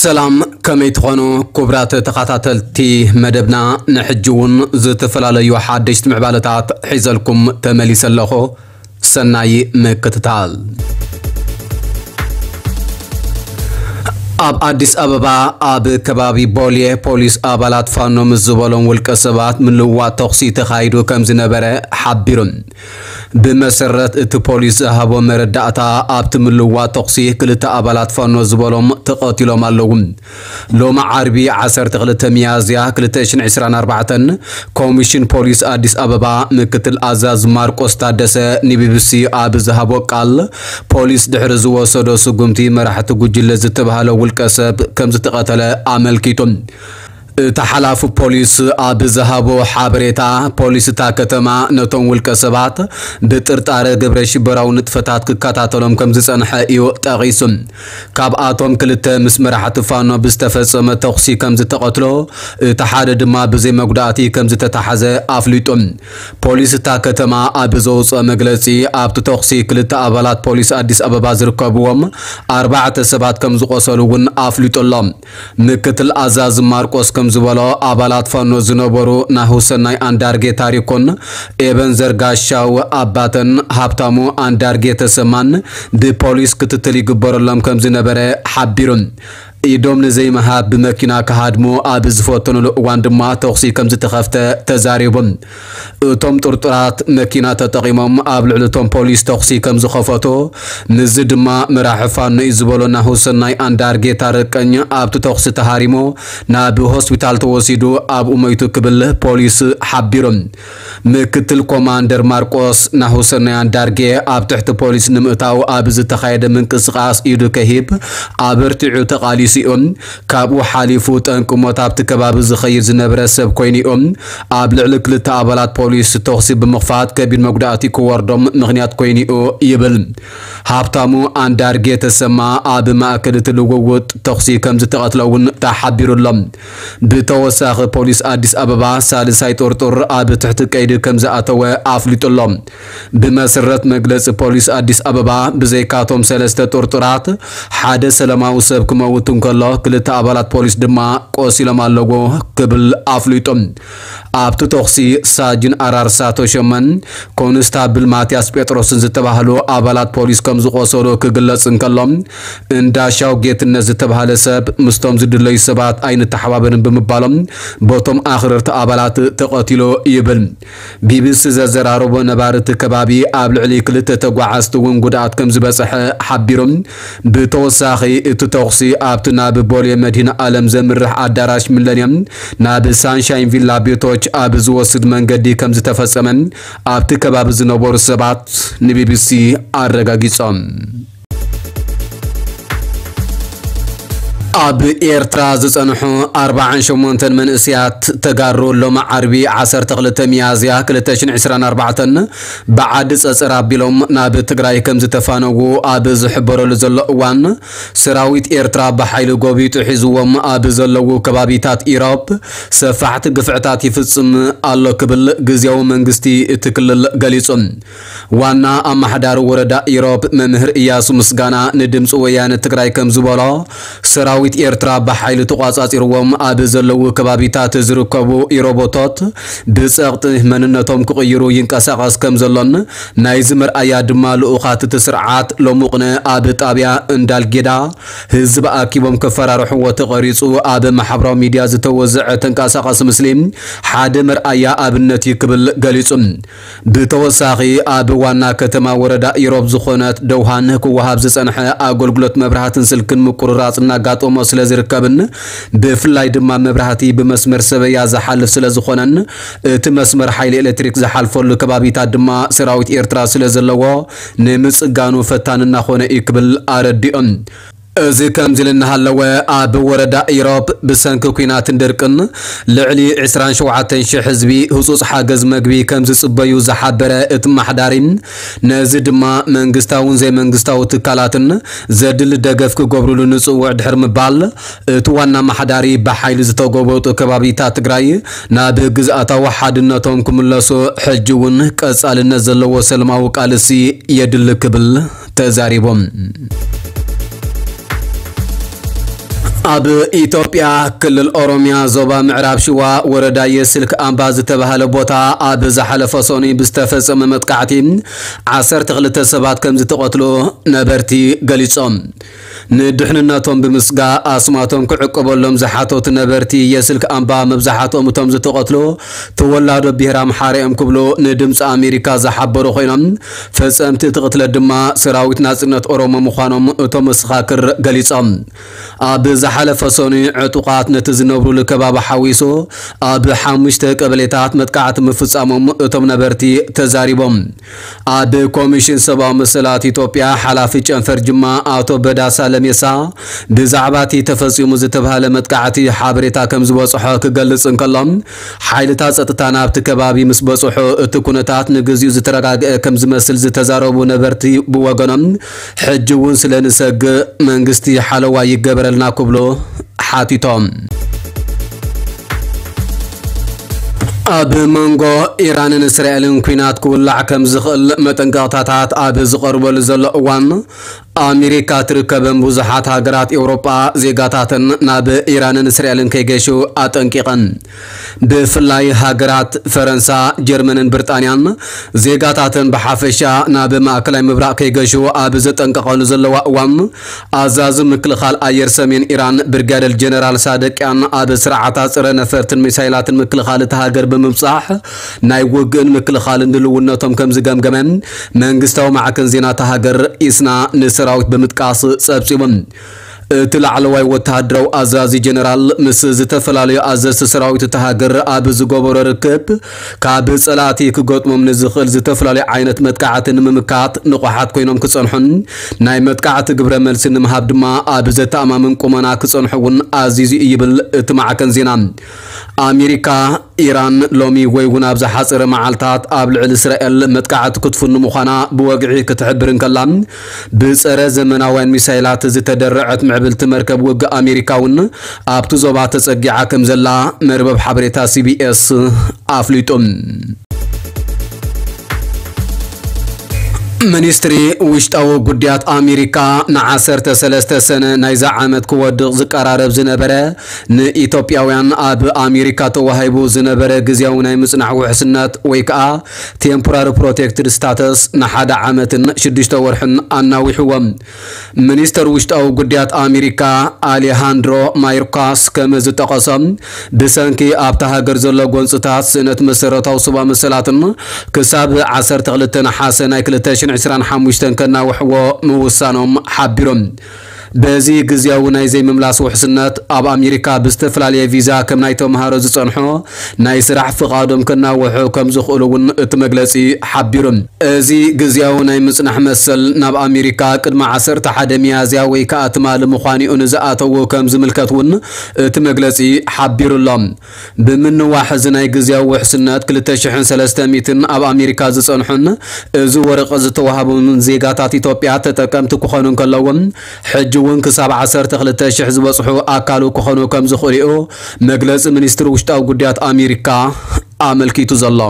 ሰላም፣ ከመይ ትኾኑ ክቡራት ተኸታተልቲ መደብና? ንሕጂ እውን ዝተፈላለዩ ሓደሽቲ ምዕባለታት ሒዘልኩም ተመሊሰ ኣለኹ። ሰናይ ምክትታል። ኣብ ኣዲስ ኣበባ ኣብ ከባቢ ቦሌ ፖሊስ ኣባላት ፋኖ ምስ ዝበሎም ውልቀ ሰባት ምልውዋጥ ተኹሲ ተኻይዱ ከም ዝነበረ ሓቢሩ። ብመሰረት እቲ ፖሊስ ዝሃቦ መረዳእታ፣ ኣብቲ ምልውዋጥ ተኹሲ ክልተ ኣባላት ፋኖ ዝበሎም ተቐቲሎም ኣለዉ። ሎሚ ዓርቢ ዓሰርተ ክልተ ሚያዝያ ክልተ ሽሕን ዕስራን ኣርባዕተን ኮሚሽን ፖሊስ ኣዲስ ኣበባ ምክትል ኣዛዝ ማርቆስ ታደሰ ንቢቢሲ ኣብ ዝሃቦ ቃል፣ ፖሊስ ድሕሪ ዝወሰዶ ስጉምቲ መራሕቲ ጉጅለ ዝተባህለ ውልቀ ሰብ ከም ዝተቐተለ ኣመልኪቱ። እቲ ሓላፊ ፖሊስ ኣብ ዝሃቦ ሓበሬታ፣ ፖሊስ እታ ከተማ ነቶም ውልቀ ሰባት ብጥርጣረ ግብረ ሽበራዊ ንጥፈታት ክከታተሎም ከም ዝጸንሐ እዩ ጠቒሱ። ካብኣቶም ክልተ ምስ መራሕቲ ፋኖ ብዝተፈጸመ ተኹሲ ከም ዝተቐትሎ፣ እቲ ሓደ ድማ ብዘይ መጉዳእቲ ከም ዝተታሕዘ ኣፍሊጡ። ፖሊስ እታ ከተማ ኣብ ዘውፅኦ መግለፂ፣ ኣብቲ ተኹሲ ክልተ ኣባላት ፖሊስ ኣዲስ ኣበባ ዝርከብዎም ኣርባዕተ ሰባት ከም ዝቆሰሉ እውን ኣፍሊጡ ኣሎ። ምክትል ኣዛዚ ማርቆስ ከም ዝበሎ፣ ኣባላት ፋኖ ዝነበሩ ናሁሰናይ ኣንዳርጌ ታሪኮን ኤበንዘር ጋሻው ኣባተን ሃብታሙ ኣንዳርጌ ተሰማን ብፖሊስ ክትትል ይግበረሎም ከም ዝነበረ ሓቢሩ። ኢዶም ንዘይምሃብ ብመኪና ክሃድሙ ኣብ ዝፈተኑሉ እዋን ድማ ተኹሲ ከም ዝተኸፍተ ተዛሪቡ። እቶም ጥርጡራት መኪና ተጠቒሞም ኣብ ልዕሊ እቶም ፖሊስ ተኹሲ ከም ዝኸፈቱ፣ ምስዚ ድማ መራሒ ፋኖ እዩ ዝበሎ ናሁሰናይ ኣንዳርጌ ታረቀኝ ኣብቲ ተኹሲ ተሃሪሙ ናብ ሆስፒታል ተወሲዱ ኣብኡ ሞይቱ ክብል ፖሊስ ሓቢሩ። ምክትል ኮማንደር ማርቆስ ናሁሰናይ ኣንዳርጌ ኣብ ትሕቲ ፖሊስ ንምእታው ኣብ ዝተኻየደ ምንቅስቓስ ኢዱ ከሂብ ኣበርቲዑ ተቓሊሱ እዩ። ካብኡ ሓሊፉ ጠንቂ ሞት ኣብቲ ከባቢ ዝኸይድ ዝነበረ ሰብ ኮይኑ እዩ። ኣብ ልዕሊ ክልተ ኣባላት ፖሊስ ተኹሲ ብምኽፋት ከቢድ መጉዳእቲ ክወርዶም ምኽንያት ኮይኑ እዩ ይብል። ሃብታሙ ኣንዳርጌ ተሰማ ኣብ ማእከል እቲ ልውውጥ ተኹሲ ከም ዝተቐትለ እውን ተሓቢሩ ኣሎ። ብተወሳኺ ፖሊስ ኣዲስ ኣበባ ሳልሳይ ጥርጡር ኣብ ትሕቲ ቀይዲ ከም ዝኣተወ ኣፍሊጡ ኣሎ። ብመሰረት መግለፂ ፖሊስ ኣዲስ ኣበባ፣ ብዘይካቶም ሰለስተ ጥርጡራት ሓደ ሰላማዊ ሰብ ክመውት እንከሎ፣ ክልተ ኣባላት ፖሊስ ድማ ቆሲሎም ኣለዉ ክብል ኣፍሊጡ። ኣብቲ ተኹሲ ሳጅን ኣራርሳ ተሾመን ኮንስታብል ማትያስ ጴጥሮስን ዝተባህሉ ኣባላት ፖሊስ ከም ዝቆሰሉ ክግለጽ እንከሎ፣ እንዳሻው ጌትነት ዝተባህለ ሰብ ምስቶም ዝድለዩ ሰባት ኣይንተሓባበርን ብምባሎም በቶም ኣኽረርቲ ኣባላት ተቐቲሉ ይብል። ቢቢሲ ዘዘራረቦ ነባሪ እቲ ከባቢ ኣብ ልዕሊ ክልተ ተጓዓዝቲ እውን ጉድኣት ከም ዝበጽሐ ሓቢሩ። ብተወሳኺ እቲ ተኹሲ ኣብቲ ናብ ቦሌ መድህን ኣለም ዘምርሕ ኣዳራሽ ሚለንየም ናብ ሳንሻይን ቪላ ቤቶች ኣብ ዝወስድ መንገዲ ከም ዝተፈጸመ ኣብቲ ከባቢ ዝነበሩ ሰባት ንቢቢሲ ኣረጋጊጾም። ኣብ ኤርትራ ዝጸንሑ ኣርባዓን ሸሞንተን መንእሰያት ተጋሩ ሎሚ ዓርቢ ዓሰርተ ክልተ ሚያዝያ ክልተ ሽሕን ዕስራን ኣርባዕተን ብዓዲ ጸጸር ኣቢሎም ናብ ትግራይ ከም ዝተፋነዉ ኣብ ዝሕበረሉ ዘሎ እዋን፣ ሰራዊት ኤርትራ ብሓይሊ ጎቢጡ ሒዝዎም ኣብ ዘለዉ ከባቢታት ኢሮብ ሰፋሕቲ ግፍዕታት ይፍጽም ኣሎ ክብል ግዝያዊ መንግስቲ እቲ ክልል ገሊጹ። ዋና ኣማሓዳሪ ወረዳ ኢሮብ መምህር እያሱ ምስጋና ንድምፂ ወያነ ትግራይ ከም ዝበሎ፣ ሰራዊት ኤርትራ ብሓይሊ ተቋጻጺርዎም ኣብ ዘለዉ ከባቢታት ዝርከቡ ኢሮቦቶት ብጸቕጢ መንነቶም ክቕይሩ ይንቀሳቐስ ከም ዘሎን፣ ናይዚ መርኣያ ድማ ልኡኻት እቲ ስርዓት ሎሙቕነ ኣብ ጣብያ እንዳልጌዳ ህዝቢ ኣኪቦም ከፈራርሕዎ ተቐሪጹ ኣብ ማሕበራዊ ሚድያ ዝተወዘዐ ተንቀሳቓሲ ምስሊ ሓደ መርኣያ ኣብነት እዩ ክብል ገሊጹ። ብተወሳኺ ኣብ ዋና ከተማ ወረዳ ኢሮብ ዝኾነት ደውሃን ክወሃብ ዝጸንሐ ኣገልግሎት መብራህትን ስልክን ምቁርራጽ እናጋጠሞ ስለ ዝርከብን ብፍላይ ድማ መብራህቲ ብመስመር ሰበያ ዝሓልፍ ስለ ዝኾነን እቲ መስመር ሓይሊ ኤሌክትሪክ ዝሓልፈሉ ከባቢታት ድማ ሰራዊት ኤርትራ ስለ ዘለዎ ንምጽጋኑ ፈታኒ እናኾነ እዩ ክብል ኣረዲኦም። እዚ ከምዚ ኢሉ እናሃለወ፣ ኣብ ወረዳ ኢሮብ ብሰንኪ ኲናትን ድርቅን ልዕሊ ዕስራን ሸውዓተን ሽሕ ህዝቢ ህጹጽ ሓገዝ መግቢ ከም ዝጽበዩ ዝሓበረ እቲ ኣመሓዳሪ፣ ነዚ ድማ መንግስታውን ዘይመንግስታዊ ትካላትን ዘድሊ ደገፍ ክገብሩሉ ንጽውዕ ድሕሪ ምባል፣ እቲ ዋና ኣመሓዳሪ ብሓይሊ ዝተጎበጡ ከባቢታት ትግራይ ናብ ግዝኣታዊ ሓድነቶም ክምለሱ ሕጂ እውን ቀጻልነት ዘለዎ ሰላማዊ ቃልሲ የድሊ ክብል ተዛሪቦም። ኣብ ኢትዮጵያ ክልል ኦሮሚያ ዞባ ምዕራብ ሽዋ ወረዳ የስልክ ኣምባ ዝተባህለ ቦታ ኣብ ዝሓለፈ ሰኑይ ብዝተፈጸመ መጥቃዕቲ ዓሰርተ ክልተ ሰባት ከም ዝተቐትሉ ነበርቲ ገሊጾም። ንድሕንነቶም ብምስጋ ኣስማቶም ክዕቀበሎም ዝሓተቱ ነበርቲ የስልክ ኣምባ መብዛሕትኦም እቶም ዝተቐትሉ ተወላዶ ብሄር ኣምሓራ እዮም ክብሉ ንድምፂ ኣሜሪካ ዝሓበሩ ኮይኖም፣ ፈጸምቲ እቲ ቅትለት ድማ ሰራዊት ናጽነት ኦሮሞ ምዃኖም እቶም መሰኻክር ገሊጾም። ኣብ ዝሓለፈ ሰኑይ ዕጡቓት ነቲ ዝነብሩሉ ከባቢ ሓዊሱ ኣብ ሓሙሽተ ቀበሌታት መጥቃዕቲ ምፍጻሞም እቶም ነበርቲ ተዛሪቦም። ኣብ ኮሚሽን ሰብኣዊ መሰላት ኢትዮጵያ ሓላፊ ጨንፈር ጅማ ኣቶ በዳሳ ለሜሳ ብዛዕባ እቲ ተፈጺሙ ዝተባህለ መጥቃዕቲ ሓበሬታ ከም ዝበጽሖ ክገልጽ እንከሎ፣ ሓይልታት ጸጥታ ናብቲ ከባቢ ምስ በጽሑ እቲ ኩነታት ንግዚኡ ዝተረጋግአ ከም ዝመስል ዝተዛረቡ ነበርቲ ብወገኖም፣ ሕጂ እውን ስለ ንሰግእ መንግስቲ ሓለዋ ይገበረልና ክብሉ ሓቲቶም። ኣብ መንጎ ኢራንን እስራኤልን ኲናት ክውላዕ ከም ዝኽእል መጠንቀቕታታት ኣብ ዝቐርበሉ ዘሎ እዋን፣ ኣሜሪካ ትርከበን ብዙሓት ሃገራት ኤውሮጳ ዜጋታተን ናብ ኢራንን እስራኤልን ከይገሹ ኣጠንቂቐን። ብፍላይ ሃገራት ፈረንሳ፣ ጀርመንን ብሪጣንያን ዜጋታተን ብሓፈሻ ናብ ማእከላይ ምብራቕ ከይገሹ ኣብ ዘጠንቀቐሉ ዘለዋ እዋን፣ ኣዛዚ ምክልኻል ኣየር ሰሜን ኢራን ብርጋደር ጀነራል ሳደቅያን ኣብ ስርዓታት ጸረ ነፈርትን ሚሳይላትን ምክልኻል እታ ሃገር ብምብጻሕ ናይ ውግእን ምክልኻልን ድልውነቶም ከም ዝገምገመ መንግስታዊ ማዕከን ዜና እታ ሃገር ኢስና ንሰራዊት ብምጥቃስ ጸብጺቡ። እቲ ላዕለዋይ ወተሃደራዊ ኣዛዚ ጀነራል ምስ ዝተፈላለዩ ኣዘዝቲ ሰራዊት እታ ሃገር ኣብ ዝገበሮ ርክብ፣ ካብ ጸላእቲ ክገጥሞም ንዝኽእል ዝተፈላለዩ ዓይነት መጥቃዕቲ ንምምካት ንቑሓት ኮይኖም ክጸንሑን ናይ መጥቃዕቲ ግብረ መልሲ ንምሃብ ድማ ኣብ ዘተኣማምን ቁመና ክጸንሑ እውን ኣዚዙ እዩ ይብል እቲ ማዕከን ዜና። ኣሜሪካ፣ ኢራን ሎሚ ወይ እውን ኣብ ዝሓጸረ መዓልታት ኣብ ልዕሊ እስራኤል መጥቃዕቲ ክትፍኑ ምዃና ብወግዒ ክትሕብር እንከላ፣ ብጸረ ዘመናውያን ሚሳይላት ዝተደረዐት ምዕብልቲ መርከብ ውግእ ኣሜሪካ እውን ኣብቲ ዞባ ተጸጊዓ ከም ዘላ መርበብ ሓበሬታ ሲቢኤስ ኣፍሊጡ። ሚኒስትሪ ውሽጣዊ ጉዳያት ኣሜሪካ ንዓሰርተ ሰለስተ ሰነ ናይዛ ዓመት ክወድቕ ዝቀራረብ ዝነበረ ንኢትዮጵያውያን ኣብ ኣሜሪካ ተዋሂቡ ዝነበረ ግዝያዊ ናይ ምጽናሕ ውሕስነት ወይ ከዓ ቴምፖራሪ ፕሮቴክትድ ስታተስ ንሓደ ዓመትን ሽዱሽተ ወርሕን ኣናዊሕዎም። ሚኒስተር ውሽጣዊ ጉዳያት ኣሜሪካ ኣሌሃንድሮ ማዮርካስ ከም ዝጠቐሶ፣ ብሰንኪ ኣብታ ሃገር ዘሎ ጎንፅታት ስእነት መሰረታዊ ሰብኣዊ መሰላትን ክሳብ ዓሰርተ ክልተ ነሓሰ ናይ ክልተ ሽሕን ዕስራን ሓሙሽተን ከናውሕዎ ምውሳኖም ሓቢሮም። በዚ ግዝያዊ ናይ ዘይምምላስ ውሕስነት ኣብ ኣሜሪካ ብዝተፈላለየ ቪዛ ከም ናይ ተምሃሮ ዝጸንሑ ናይ ስራሕ ፍቓዶም ከናውሑ ከም ዝኽእሉ እውን እቲ መግለጺ ሓቢሩ። እዚ ግዝያዊ ናይ ምጽናሕ መሰል ናብ ኣሜሪካ ቅድሚ ዓሰርተ ሓደ ሚያዝያ ወይ ከኣ ትማሊ ምዃኑ'ዩ ንዝኣተዉ ከም ዝምልከት እውን እቲ መግለጺ ሓቢሩ ኣሎ። ብምንዋሕ እዚ ናይ ግዝያዊ ውሕስነት ክልተ ሽሕን ሰለስተ ሚእትን ኣብ ኣሜሪካ ዝጸንሑን እዚ ወረቐት ዝተዋህቦምን ዜጋታት ኢትዮጵያ ተጠቀምቲ ክኾኑ እንከለዎም፣ ሕጂ እውን ክሳብ ዓሰርተ ክልተ ሽሕ ዝበጽሑ ኣካሉ ክኾኑ ከም ዝኽእሉ'ዩ መግለጺ ሚኒስትሪ ውሽጣዊ ጉዳያት ኣሜሪካ ኣመልኪቱ ዘሎ።